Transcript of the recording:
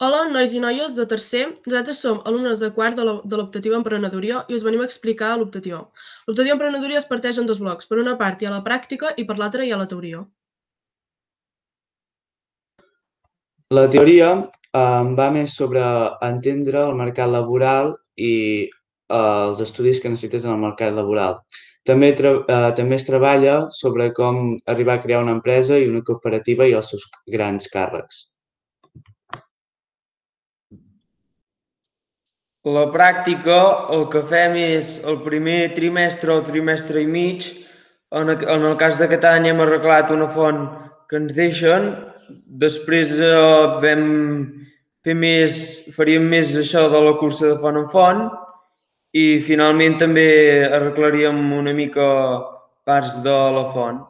Hola, nois i noies de tercer. Nosaltres som alumnes de quart de l'optatiu Emprenedoria i us venim a explicar l'optatiu. L'optatiu Emprenedoria es parteix en dos blocs. Per una part hi ha la pràctica i per l'altra hi ha la teoria. La teoria va més sobre entendre el mercat laboral i els estudis que necessites en el mercat laboral. També es treballa sobre com arribar a crear una empresa i una cooperativa i els seus grans càrrecs. La pràctica, el que fem és el primer trimestre o trimestre i mig. En el cas d'aquest any hem arreglat una font que ens deixen. Després faríem més això de la cursa de font en font i finalment també arreglaríem una mica parts de la font.